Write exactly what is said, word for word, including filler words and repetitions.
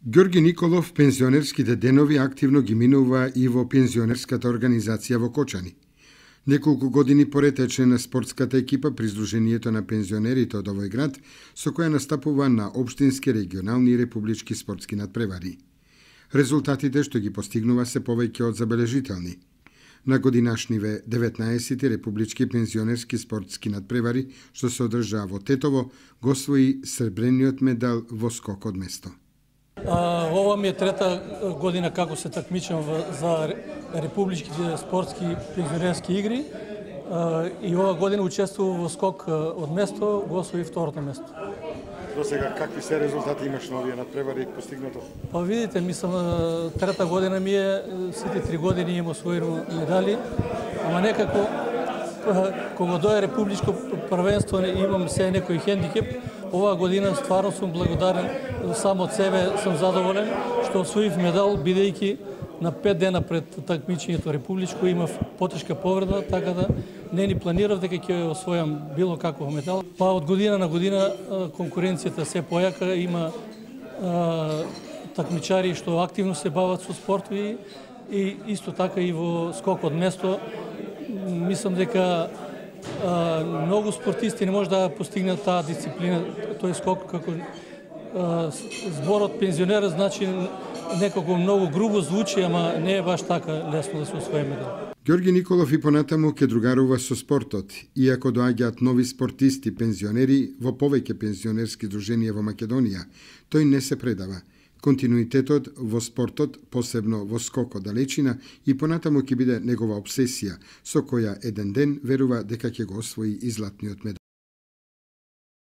Ѓорги Николов пензионерските денови активно ги минува и во пензионерската организација во Кочани. Неколку години поред е член на спортската екипа при Сдруженијето на пензионерите од овој град, со која настапува на општински, регионални и републички спортски надпревари. Резултатите што ги постигнува се повеќе од забележителни. На годинашниве деветнаесети републички пензионерски спортски надпревари, што се одржаа во Тетово, го освои сребрениот медал во скок од место. А, ова ми е трета година како се такмичам за републичките спортски пензионерски игри а, и ова година учествував во скок од место, го освои второто место. До сега какви се резултати имаш на овие надпревари постигнато? Па видите, мислам трета година ми е, сите три години имам освоено медали, ама некако кога дое републичко првенство имам се некој хендикеп. Оваа година стварно сум благодарен, сам од себе сум задоволен што освоив медал, бидејќи на пет дена пред такмичењето републичко имав потешка повреда, така да не ни планирав дека ќе освојам било каков медал. Па од година на година конкуренцијата се појака, има а, такмичари што активно се бават со спортови и исто така и во скок од место. Мислам дека а, многу спортисти не може да постигнат таа дисциплина, тој скок како а, зборот пензионер, значи некако многу грубо звучи, ама не е баш така лесно да се освои медал. Ѓорги Николов и понатаму ке другарува со спортот, иако доаѓаат нови спортисти, пензионери во повеќе пензионерски друженија во Македонија, тој не се предава. Континуитетот во спортот, посебно во скокот далечина, и понатаму ќе биде негова обсесија, со која еден ден верува дека ќе го освои и златниот медал.